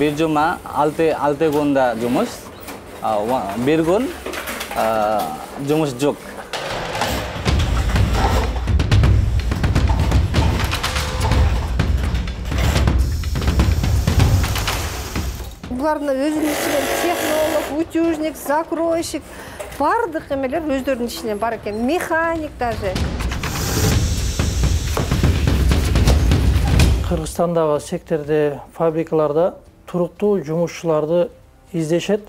bir cuma 6 günde cumus, bir gün cumus yok. Булардын өзүнүн ичинен технолог, утюжник, закройщик бардык эмелер өздөрүнүн ичинен бар экен, механик даже. Кыргызстандагы секторде, фабрикаларда туруктуу жумушчуларды издешет,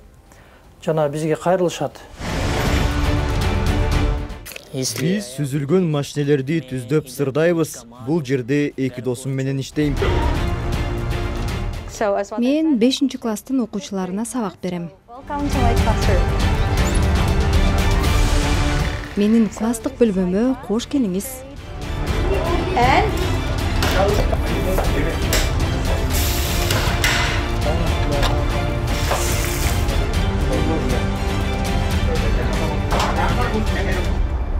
жана бизге кайрылышат. Биз сүзүлгөн машинелерди түздөп сырдайбыз. Бул жерде эки досум менен иштейм. Мен 5-класстын окуучуларына сабак берем. Менин класстык бөлмөмө кош келиңиз.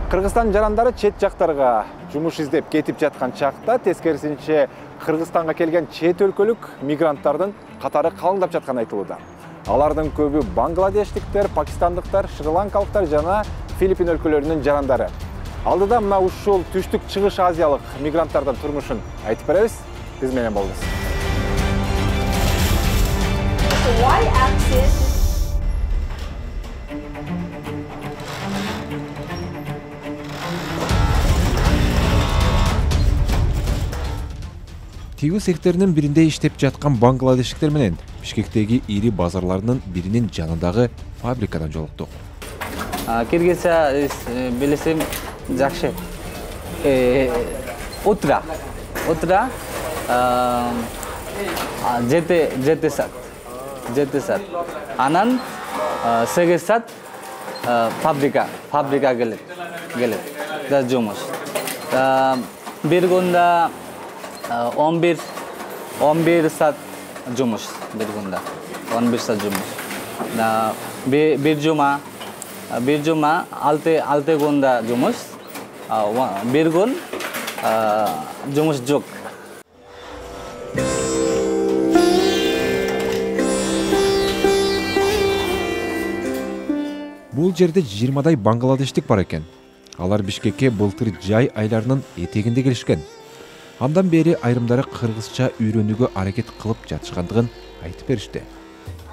Кыргызстан жарандары чет жактарга жумуш издеп кетип жаткан чакта тескерисинче Кыргызстанга келген чет өлкөлүк мигранттардын катары калыңдап жатканы айтылууда. Алардын көбү бангладештиктер, пакистандыктар, шри-ланкалыктар жана Филиппин өлкөлөрүнүн жарандары. Алдыда мына ушул түштүк чыгыш азиялык мигранттардын турмушун айтып беребиз. Биз менен болуңуз. Тигүү секторунун биринде иштеп жаткан бангладештиктер менен Бишкектеги ири базарларынын биринин жанындагы фабрикадан жолуктук. Киргизча билесем жакшы. Утра 7 саат. Анан 8 саат фабрика келет. Да жумуш. Bir günde 11 saat jumuş bir günde. 11 saat jumuş. Bir cuma 6 günde jumuş. Bir gün jumuş yok. Бул жерде 20дай бангладештик бар экен. Алар Бишкекке былтыр жай айларынын этегинде келишкен. Андан бери айрымдары кыргызча үйрөнүүгө аракет кылып жатышкандыгын айтып беришти.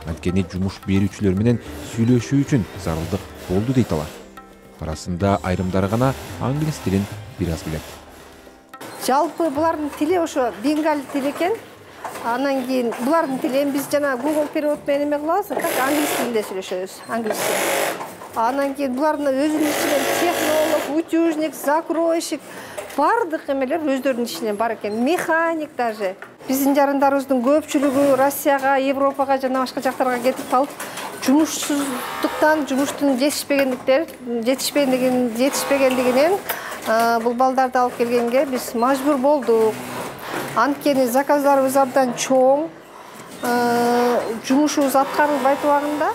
Анткени жумуш берүүчүлөр менен сүйлөшүү үчүн зарылдык болду дейт алар. Арасында айрымдары гана англис тилин бир аз билет. Жалпы булардын тили ошо бенгал тили экен. Анан кийин булардын тилин биз жана Google перевод менен эме кылабыз, так англис тилинде сүйлөшөбүз, англисче. Анан кийин булардын өзүнүн ичинен технолог, утюжник, закройщик бардык эмелер өздөрүнүн ичинен бар экен, механик даже. Биздин жарандарыбыздын көпчүлүгү Россияга, Европага жана башка жактарга кетип калып, жумушсуздуктан, жумуштун жетишпегендигинен бул балдарды алып келгенге биз мажбур болдук. Анткени заказдарыбыз абдан чоң, жумушубуз аткарылбайт убагында.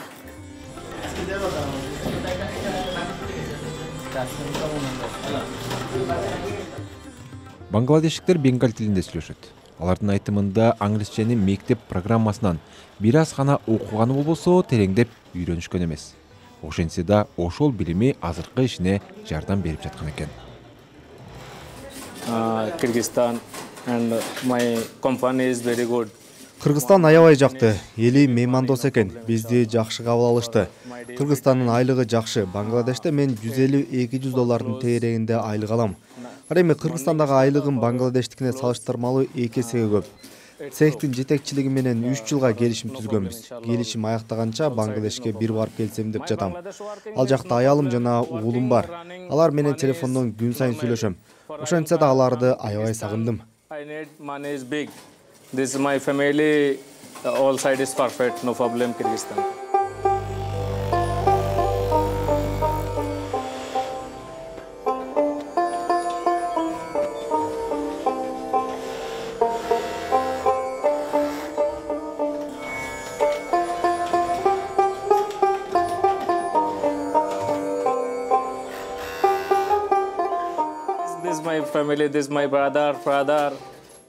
Бангладештиктер бенгал тилинде сүйлөшөт. Алардын айтымында англисченин мектеп программасынан бир аз гана окуганы болбосо тереңдеп үйрөнүшкөн эмес. Ошентсе да ошол билими азыркы ишине жардам берип жаткан экен. Kyrgyzstan and my company is very good. Кыргызстан аябай жакты, эли меймандос экен, бизди жакшы кабыл алышты. Кыргызстандын айлыгы жакшы. Бангладеште мен 150-200 доллардын тегерегинде айлык алам. Ал эми Кыргызстандагы айлыгым Бангладештикине салыштырмалуу 2 эсеге көп. Цехтин жетекчилиги менен 3 жылга келишим түзгөнбүз. Келишим аяктаганча Бангладешке бир барып келсем деп жатам. Ал жакта аялым жана уулум бар. Алар менен телефондон күн сайын сүйлөшөм. Ошентсе да аларды аябай сагындым. This is my family, all side is perfect, no problem Kyrgyzstan. This is my family, this is my brother.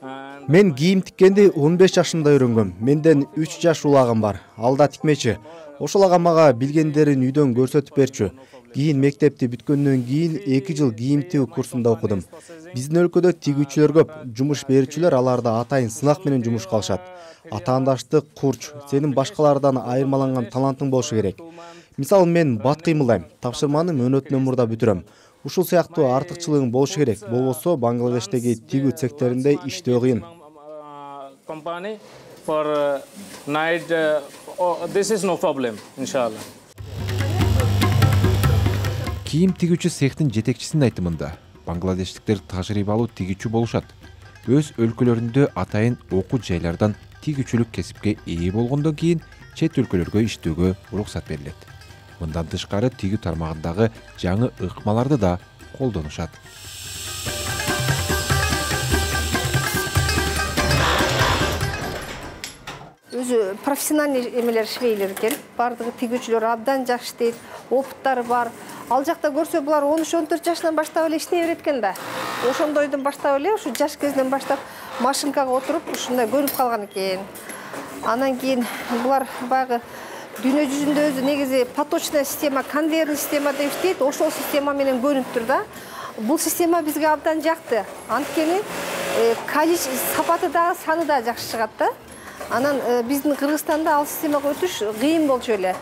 And Мен кийим тиккенди 15 жашымда үйрөнгөм. Менден 3 жаш улагым бар. Ал да тикмечи. Ошол ага мага билгендерин үйдөн көрсөтүп берчү. Кийин мектепти бүткөндөн кийин 2 жыл кийим тигүү курсунда окудум. Биздин өлкөдө тигүүчүлөр көп. Жумуш берүүчүлөр аларды атайын сынак менен жумушка алышат. Атаандаштык курч, сенин башкалардан айырмаланган талантың болушу керек. Мисалы мен бат кыймылдайм, тапшырманы мөөнөтүнөн мурда бүтүрөм. Ушул сыяктуу артыкчылыгың болушу керек. Болбосо Бангладештеги тигүү секторунда иштөө кыйын. Company for night. This is no problem, inshallah. Кийим тигүүчү цехтин жетекчисинин айтымында бангладештиктер тажрыйбалуу тигүүчү болушат. Өз өлкөлөрүндө атайын окуу жайлардан тигүүчүлүк кесипке ээ болгондон кийин чет өлкөлөргө иштөөгө уруксат берилет. Мындан тышкары тигүү тармагындагы жаңы ыкмаларды да колдонушат. Өзү профессиональный эмелер швейлер экен. Бардыгы тигүүчүлөр абдан жакшы иштейт, опыттары бар. Ал жакта көрсө булар 13-14 жашынан баштап эле иштей берет экен да. Ошондойдон баштап эле ушу жаш кезинен баштап машинкага отуруп ушундай көнүп калган экен. Анан кийин булар баягы дүйнө жүзүндө өзү негизи поточная система, конвейерный система деп иштейт. Ошол система менен көнүптүр да. Бул система бизге абдан жакты. Анткени количество, сапаты да, саны да жакшы чыгат да. Анан биздин Кыргызстанда ал системага өтүш кыйын болчу эле.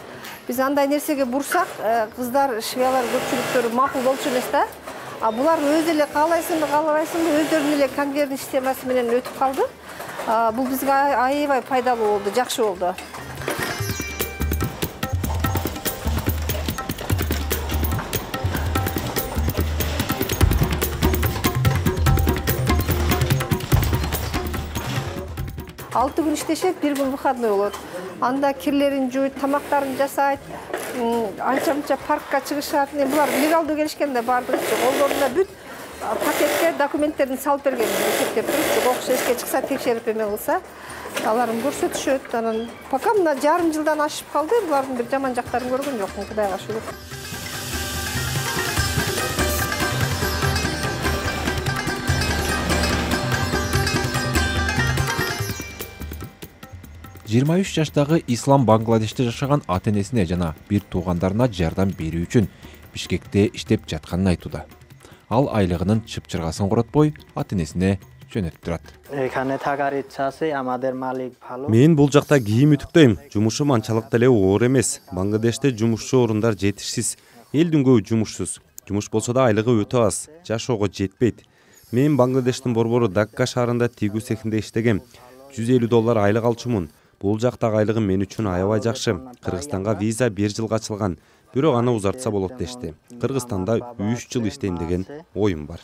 Биз андай нерсеге бурсак, кыздар, швеялар көпчүлүктөрү макул болчу эмес да. А булар өзү эле каалайсыңбы, каалабайсыңбы, өздөрүнүн эле конвейерный системасы менен өтүп калды. Бул бизге аябай пайдалуу болду, жакшы болду. Алты күн иштешет, бир күн выходной болот. Анда кирлерин жууйт, тамактарын жасайт, анча-мынча паркка чыгышат. Булар легалдуу келишкен да бардыгы колдорунда бүт пакетке документтерин салып берген. Эсептеп туруп, окуш эшикке чыкса, текшерип эме кылса, аларын көрсөтүшөт. Анан пока мына жарым жылдан ашып калды, булардын бир жаман жактарын көргөн жокмун, Кудайга шүгүр. Жыйырма 3 жаштагы Ислам Бангладеште жашаган ата-энесине жана бир туугандарына жардам берүү үчүн Бишкекте иштеп жатканын айтууда. Ал айлыгынын чыпчыргасын коротпой, ата-энесине жөнөтүп турат. Мен бул жакта кийим үтүктөйм. Жумушум анчалык деле оор эмес. Бангладеште жумушчу орундар жетишсиз. Элдин көбү жумушсуз. Жумуш болсо да айлыгы өтө аз. Жашоого жетпейт. Мен Бангладештин борбору Дакка шаарында тигүү цехинде иштегем. $150 айлык алчумун. Бул жактагы айлыгым мен үчүн аябай жакшы. Кыргызстанга виза 1 жылга ачылган. Бирок аны узартса болот дешти. Кыргызстанда 3 жыл иштейм деген оюм бар.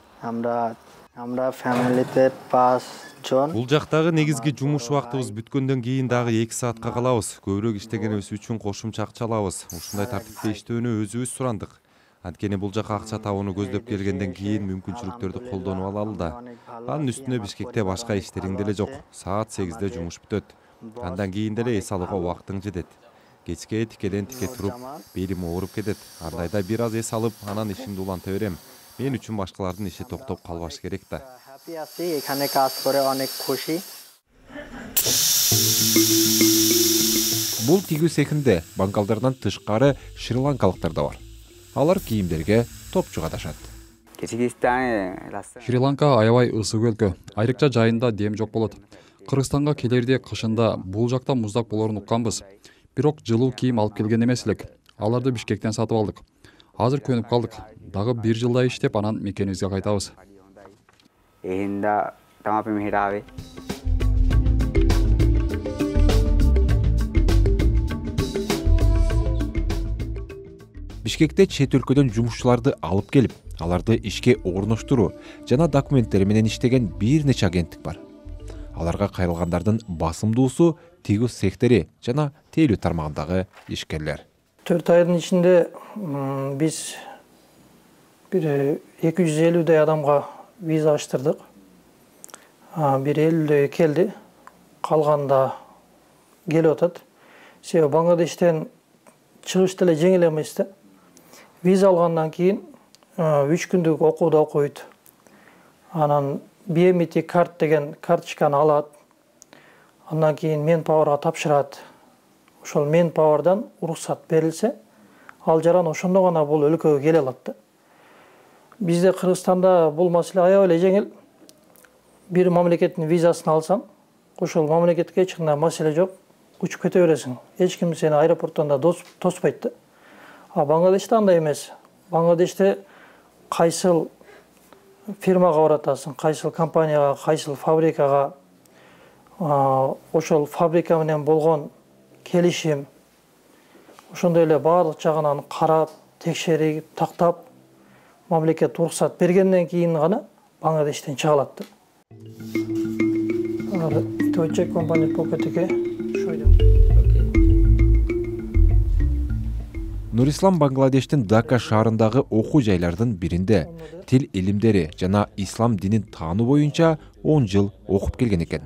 Бул жактагы негизги жумуш убактыбыз бүткөндөн кийин дагы 2 саатка калабыз. Көбүрөөк иштегенибиз үчүн кошумча акча алабыз. Ушундай тартипте иштөөнү өзүбүз сурандык. Анткени бул жака акча табууну көздөп келгенден кийин мүмкүнчүлүктөрдү колдонуп алалы да. Анын үстүнө Бишкекте башка иштериң деле жок. Саат 8-де жумуш бүтөт. Андан кийин деле эс алууга убактың жетет. Кечке тикеден тике туруп, белим ооруп кетет. Андайда бир аз эс алып, анан ишимди уланта берем. Мен үчүн башкалардын иши токтоп калбаш керек да. Бул тигүү цехинде бангалдардан тышкары шри-ланкалыктар да бар. Алар кийимдерге топчук адашат. Шри-Ланка аябай ысык өлкө. Айрыкча жайында дем жок болот. Кыргызстанга келерде кышында бул жакта муздак болорун укканбыз. Бирок жылуу кийим алып келген эмес элек. Аларды Бишкектен сатып алдык. Азыр көнүп калдык. Дагы 1 жылдай иштеп анан мекенибизге кайтабыз. Бишкекте чет өлкөдөн жумушчуларды алып келип, аларды ишке орноштуруу жана документтери менен иштеген бир нече агенттик бар. Аларга кайрылгандардын басымдуусу тигүү цехтери жана тейлөө тармагындагы ишкерлер. 4 айдын ичинде биз бир 250 адамга виза ачтырдык. Бир 50 келди, калганда келип атат. Себеби Бангладештен чыгыш деле жеңил эмес да. Виза алгандан кийин 3 күндүк окууда окуйт. Анан BMT карт деген карточканы алат. Андан кийин Manpowerга тапшырат. Ошол Manpowerдан уруксат берилсе, ал жаран ошондо гана бул өлкөгө келе алат да. Бизде Кыргызстанда бул маселе аябай эле жеңил. Бир мамлекеттин визасын алсаң, ошол мамлекетке эч кандай маселе жок. Учуп кете бересиң. Эч ким сени аэропорттон да тоспойт да. А Бангладеште андай эмес. Бангладеште кайсыл фирмага баратасың, кайсыл компанияга, кайсыл фабрикага, ошол фабрика менен болгон келишим, ошондой эле баардык жагынан карап, текшерип, тактап, мамлекет уруксат бергенден кийин гана Бангладештен чыга алат да. To check company pocket okay. Show them. Нурислам Бангладештин Дака шаарындагы окуу жайлардын биринде тил илимдери жана ислам динин таануу боюнча 10 жыл окуп келген экен.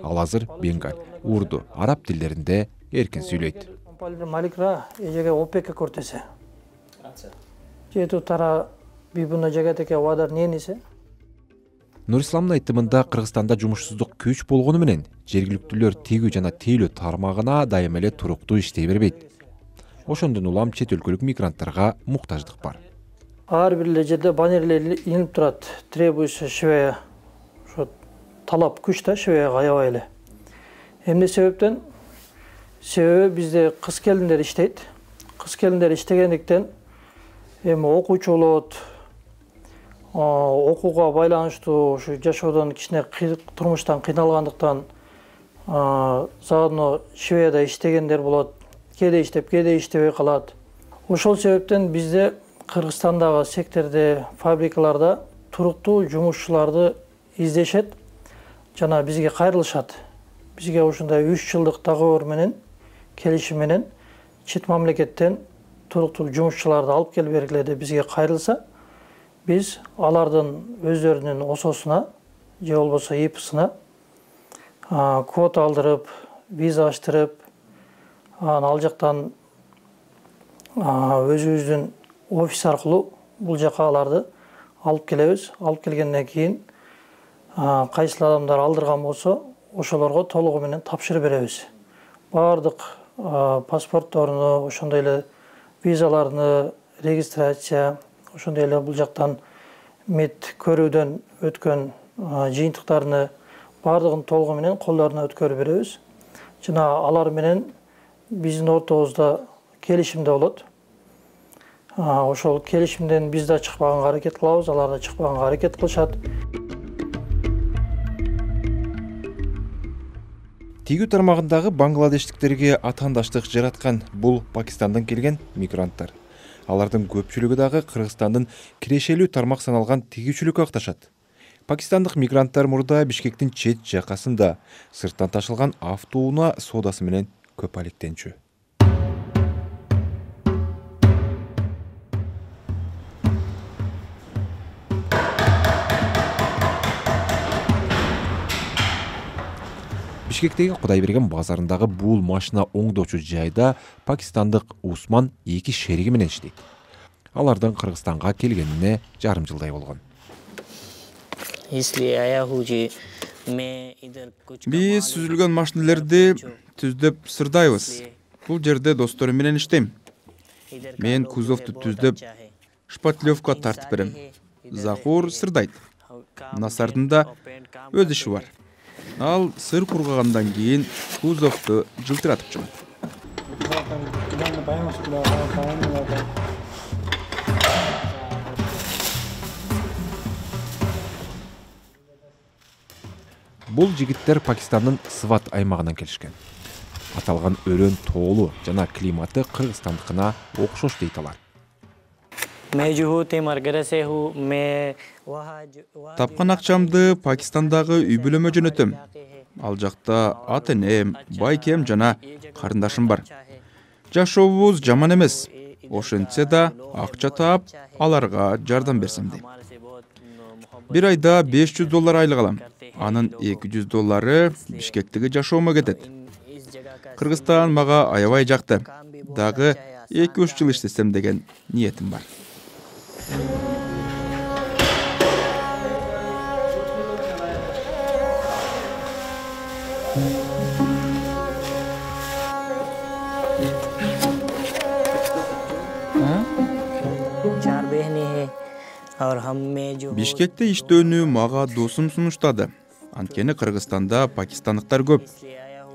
Ал азыр бенгаль, урду, араб тилдеринде эркин сүйлөйт. Маликра эжеге опека кортесе. Жету тара бибуна жагатеке вадар ненисе. Нурисламдын айтымында Кыргызстанда жумушсуздук күч болгону менен жергиликтүүлөр тигүү жана тейлөө тармагына дайыма эле туруктуу иштей бербейт. Ошондон улам чет өлкөлүк мигранттарга муктаждык бар. Ар бир эле жерде баннерлер илинип турат. Требуется швея. Ошо талап күч да швеяга аябай эле. Эмне себептен? Себеби бизде кыз келиндер иштейт. Кыз келиндер иштегендиктен эми окуучу болот. Окууга байланыштуу ушу жашоодон кичине турмуштан кыйналгандыктан заодно Шведияда иштегендер болот. Кээде иштеп, кээде иштебей калат. Ошол себептен бизде Кыргызстандагы секторде, фабрикаларда туруктуу жумушчуларды издешет жана бизге кайрылышат. Бизге ушундай 3 жылдык договор менен, келишим менен чет мамлекеттен туруктуу жумушчуларды алып келип бергиле деп бизге кайрылса, биз алардын өздөрүнүн ОСОсуна же болбосо ИПСына квота алдырып, виза аштырып, ал жактан өзүбүздүн офис аркылуу бул жака аларды алып келебиз. Алып келгенден кийин кайсыл адамдар алдырган болсо, ошолорго толугу менен тапшырып беребиз. Баардык паспортторуну, ошондой эле визаларны, регистрация, ошондой эле бул жактан мед көрүүдөн өткөн жыйынтыктарны баардыгын толугу менен колдоруна өткөрүп беребиз. Жана алар менен биздин ортобузда келишимде болот. Ошол келишимден биз да чыкпаганга аракет кылабыз, алар да чыкпаганга аракет кылышат. Тигүү тармагындагы бангладештиктерге атаандаштык жараткан бул Пакистандан келген мигранттар. Алардын көпчүлүгү дагы Кыргызстандын кирешелүү тармак саналган тигүүчүлүккө акташат. Пакистандык мигранттар мурда Бишкектин чет жакасында сырттан ташылган автоунаа соодасы менен көп алектенчү. Бишкектеги Кудайберген базарындагы бул машина оңдоочу жайда пакистандык Усман 2 шериги менен иштейт. Алардын Кыргызстанга келгенине жарым жылдай болгон. Биз сүзүлгөн машинелерди түздөп сырдайбыз. Бул жерде досторум менен иштейм. Мен кузовду түздөп шпатлевка тартып берем. Захур сырдайт. Насардын да өз иши бар. Ал сыр кургагандан кийин кузовду жылтыратып чыгат. Бул жигиттер Пакистандын Сват аймагынан келишкен. Аталган өрөн тоолуу жана климаты Кыргызстандыкына окшош дейт алар. Тапкан акчамды Пакистандагы үй бүлөмө жөнөтөм. Ал жакта ата-энем, байкем жана карындашым бар. Жашообуз жаман эмес. Ошентсе да акча таап, аларга жардам берсем дейм. Бир айда $500 айлык алам. Анын $200 Бишкектеги жашоомо кетет. Кыргызстан мага аябай жакты. Дагы 2-3 жыл иштесем деген ниетим бар. Бишкекте иштөөнү мага досум сунуштады. Анткени Кыргызстанда пакистандыктар көп.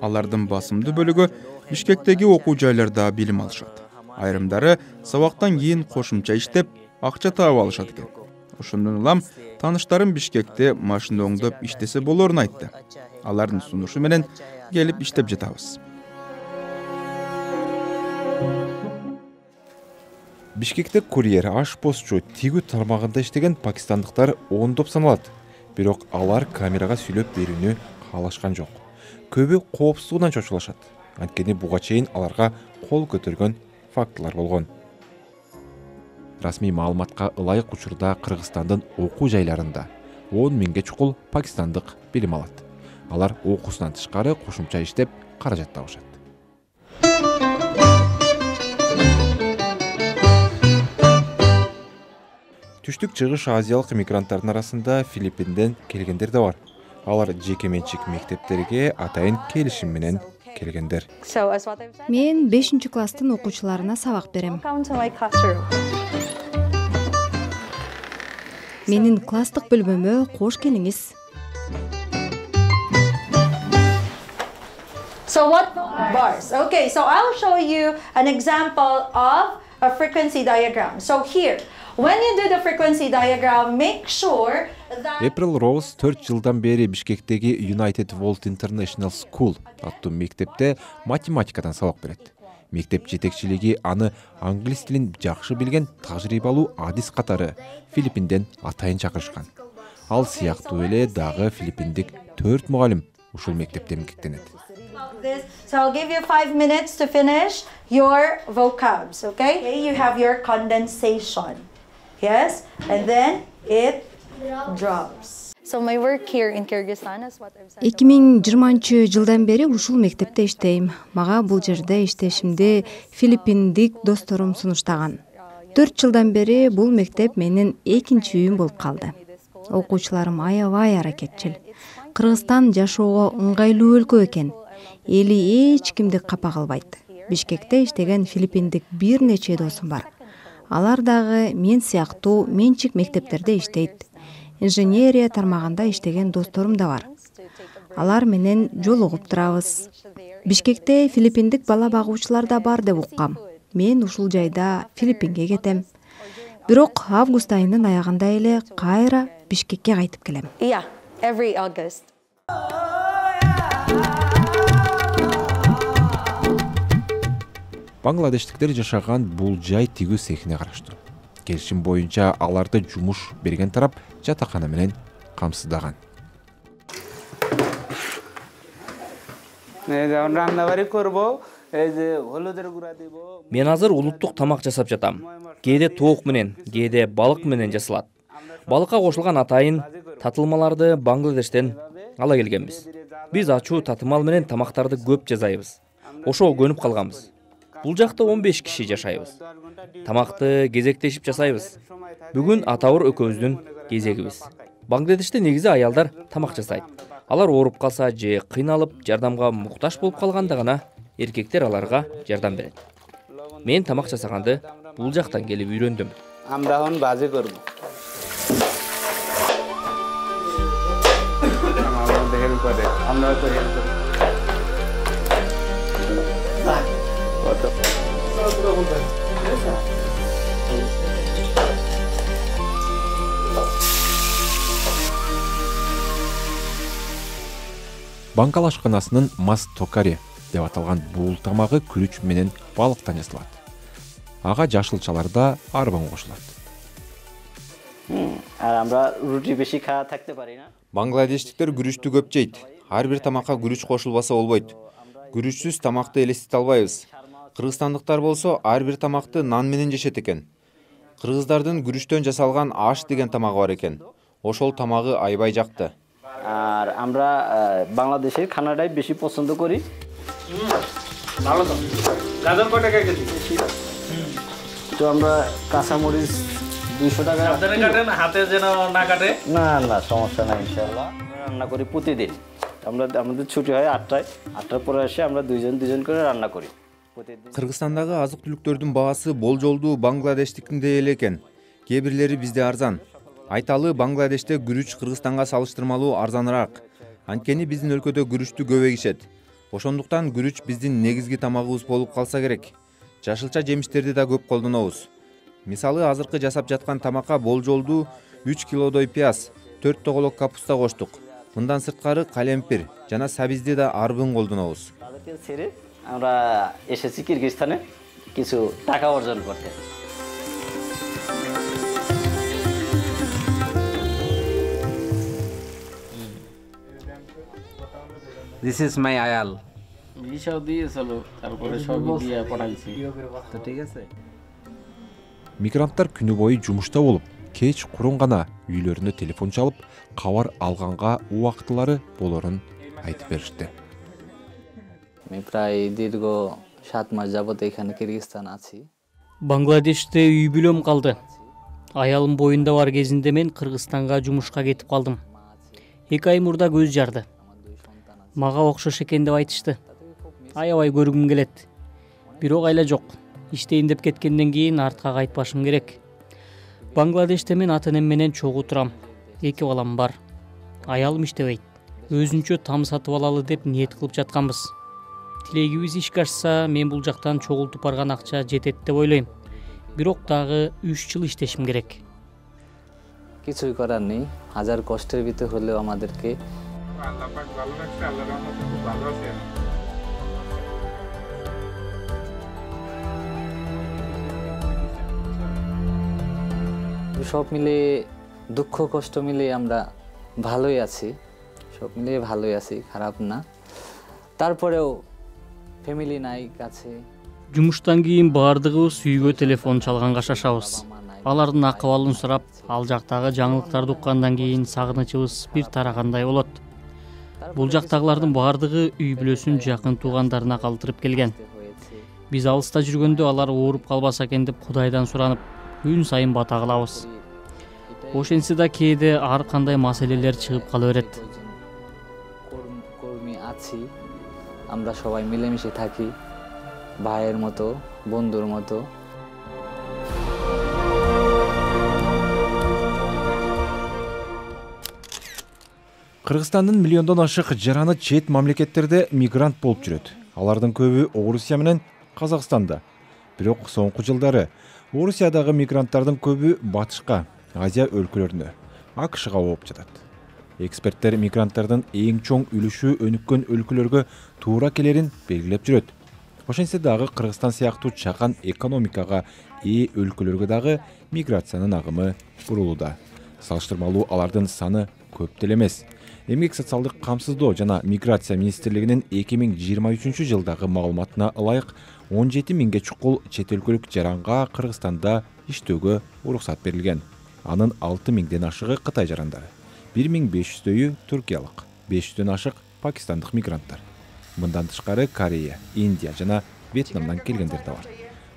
Алардын басымдуу бөлүгү Бишкектеги окуу жайларда билим алышат. Айрымдары сабактан кийин кошумча иштеп, акча таап алышат экен. Ошондон улам тааныштарым Бишкекте машина оңдоп иштесе болорун айтты. Алардын сунушу менен келип иштеп жатабыз. Бишкекте курьер, ашпозчу, тигүү тармагында иштеген пакистандыктар ондоп саналат. Бирок алар камерага сүйлөп берүүнү каалашкан жок. Көбү коопсуздугунан чочулашат. Анткени буга чейин аларга кол көтөргөн фактылар болгон. Расмий маалыматка ылайык учурда Кыргызстандын окуу жайларында 10 миңге чукул пакистандык билим алат. Алар окуусунан тышкары кошумча иштеп каражат табышат. Түштүк чыгыш азиялык мигранттардын арасында Филиппинден келгендер да бар. Алар жеке менчик мектептерге атайын келишим менен келгендер. Мен 5-класстын окуучуларына сабак берем. Менин класстык бөлмөмө кош келиңиз. So what bars? Okay, so I'll show you an example of a frequency diagram. So here, when you do the frequency diagram, make sure that April Rose 4 жылдан бери Бишкектеги United World International School аттуу мектепте математикадан сабак берет. Мектеп жетекчилиги аны англис тилин жакшы билген тажрыйбалуу адис катары Филиппинден атайын чакырышкан. Ал сыяктуу эле дагы филиппиндик 4 мугалим ушул мектепте эмгектенет. So I'll give you 5 minutes to finish your vocabs, okay? You have your condensation, yes? And then it drops. So my work here in Kyrgyzstan is what I've said. 2020-жылдан бери ушул мектепте иштейм. Мага бул жерде иштешимди филиппиндик досторум сунуштаган. 4 жылдан бери бул мектеп менин экинчи үйүм болуп калды. Окуучуларым аябай аракетчил. Кыргызстан жашоого ыңгайлуу өлкө экен. Эли эч кимди капа кылбайт. Бишкекте иштеген филиппиндик бир нече досум бар. Алар дагы мен сыяктуу менчик мектептерде иштейт. Инженерия тармагында иштеген досторум да бар. Алар менен жолугуп турабыз. Бишкекте филиппиндик бала багуучулар да бар деп уккам. Мен ушул жайда Филиппинге кетем. Бирок август айынын аягында эле кайра Бишкекке кайтып келем. Yeah, every August. Бангладештиктер жашаган бул жай тигүү цехине караштуу. Келишим боюнча аларды жумуш берген тарап жатакана менен камсыздаган. Мен азыр улуттук тамак жасап жатам. Кээде тоок менен, кээде балык менен жасалат. Балыкка кошулган атайын татылмаларды Бангладештен ала келгенбиз. Биз ачуу татымал менен тамактарды көп жасайбыз. Ошого көнүп калганбыз. Бул жакта 15 киши жашайбыз. Тамакты кезектешип жасайбыз. Бүгүн атабыр экөөбүздүн кезегибиз. Бангладеште негизи аялдар тамак жасайт. Алар ооруп калса же кыйналып, жардамга муктаж болуп калганда гана эркектер аларга жардам берет. Мен тамак жасаганды бул жактан келип үйрөндүм. Бангал ашканасынын мас токари деп аталган бул тамагы күрүч менен балыктан жасалат. Ага жашылчаларда арбан кошулат. Бангладештиктер күрүчтү көп жейт. Ар бир тамакка күрүч кошулбаса болбойт. Күрүчсүз тамакты элестете албайбыз. Кыргызстандыктар болсо ар бир тамакты нан менен жешет экен. Кыргыздардын күрүчтөн жасалган аш деген тамагы бар экен. Ошол тамагы аябай жакты. আর আমরা বাংলাদেশের খানাটাই বেশি পছন্দ করি। ভালো তো। গাজর কত টাকা কেজি? তো আমরা কাঁচামরিচ 200 টাকা। সাবধানে কাটেন, হাতে যেন না কাটে। না না, সমস্যা নাই ইনশাআল্লাহ। রান্না করি প্রতিদিন। আমাদের ছুটি হয় 8টায়। 8টার পরে এসে আমরা দুইজন করে রান্না করি। Кыргызстандагы азык түлүктөрдүн баасы болжолдуу Бангладештикиндей эле экен. Кээ бирлери бизде арзан. Айталы, Бангладеште күрүч Кыргызстанга салыштырмалуу арзаныраак. Анткени биздин өлкөдө күрүчтү көп эгишет. Ошондуктан күрүч биздин негизги тамагыбыз болуп калса керек. Жашылча жемиштерди да көп колдонобуз. Мисалы, азыркы жасап жаткан тамакка болжолдуу 3 килодой пияз, 4 тоголок капуста коштук. Мындан сырткары калемпир жана сабизди да арбын колдонобуз। আমরা এসেছি কিরগিজস্তানে কিছু টাকা অর্জন করতে। This is my ayal. ভিসাও দিয়েছিল, তারপরে সবই দিয়ে পাঠাইছি। তো ঠিক আছে। Мигранттар күнү бою жумушта болуп, кеч курун гана үйлөрүнө телефон чалып, кабар алганга убактылары болорун айтып беришти। আমি প্রায় দীর্ঘ 7 মাস যাবত এখানে কিরগিজস্তান আছি। Бангладеште үй бүлөм калды. Аялым боюнда бар кезинде мен Кыргызстанга жумушка кетип калдым. 2 ай мурда көз жарды. Мага окшош экен деп айтышты. Аябай көргүм келет. Бирок айла жок. Иштейин деп кеткенден кийин артка кайтпашым керек. Бангладеште мен ата-энем менен чогуу турам. 2 балам бар. Аялым иштебейт. Өзүнчө там сатып алалы деп ниет кылып жатканбыз. Тилегибиз ишке ашса, мен бул жактан чогултуп барган акча жетет деп ойлойм. Бирок дагы 3 жыл иштешим керек. কিছুই করার নেই, হাজার কষ্টের ভিতর হলেও আমাদেরকে আল্লাহ পাক ভালো রাখছে, আল্লাহর রহমতে খুব ভালো আছি। সব মিলে দুঃখ কষ্ট মিলে আমরা ভালোই আছি, সব মিলে ভালোই আছি, খারাপ না। তারপরেও ফ্যামিলি নাই কাছে। Жумуштан кийин баардыгыбыз үйгө телефон чалганга шашабыз. Алардын акыбалын сурап, ал жактагы жаңылыктарды уккандан кийин сагынычыбыз бир тарагандай болот. Бул жактагылардын баардыгы үй бүлөсүн жакын туугандарына калтырып келген. Биз алыста жүргөндө алар ооруп калбаса экен деп Кудайдан суранып, күн сайын бата кылабыз. Ошентсе да кээде ар кандай маселелер чыгып кала берет. কর্মী আছি, আমরা সবাই মিলেমিশে থাকি, ভাইয়ের মতো, বন্ধুর মতো। Кыргызстандын миллиондон ашык жараны чет мамлекеттерде мигрант болуп жүрөт. Алардын көбү Орусия менен Казакстанда. Бирок соңку жылдары Орусиядагы мигранттардын көбү батышка, Азия өлкөлөрүнө, АКШга ооп жатат. Эксперттер мигранттардын эң чоң үлүшү өнүккөн өлкөлөргө туура келерин белгилеп жүрөт. Ошентсе дагы Кыргызстан сыяктуу чакан экономикага ээ өлкөлөргө дагы миграциянын агымы бурулууда. Салыштырмалуу алардын саны көп деле эмес. Эмгек социалдык камсыздоо жана миграция министрлигинин 2023 жылдагы маалыматына ылайык 17 миңге чукул чет өлкөлүк жаранга Кыргызстанда иштөөгө уруксат берилген. Анын 6 миңден ашыгы Кытай жарандары, 1500дөйү туркиялык, 500дөн ашык пакистандык мигранттар. Мындан тышкары Корея, Индия жана Вьетнамдан келгендер да бар.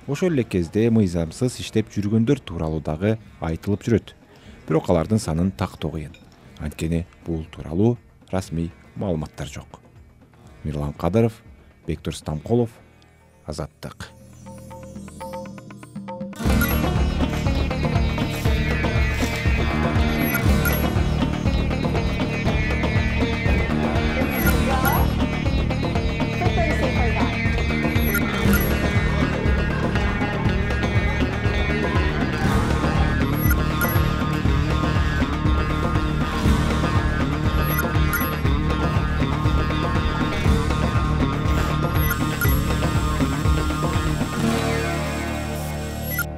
Ошол эле кезде мыйзамсыз иштеп жүргөндөр тууралуу дагы айтылып жүрөт. Бирок алардын санын тактоо кыйын. Анткени бул тууралуу расмий маалыматтар жок. Мирлан Кадыров, Бектур Стамколов, Азаттык.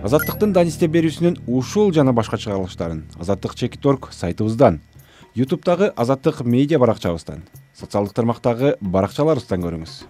Азаттыктын Данисте берүүсүнүн ушул жана башка чыгарылыштарын Азаттык.org сайтыбыздан, YouTube'дагы Азаттык медиа баракчабыздан, социалдык тармактагы баракчаларыбыздан көрүңүз.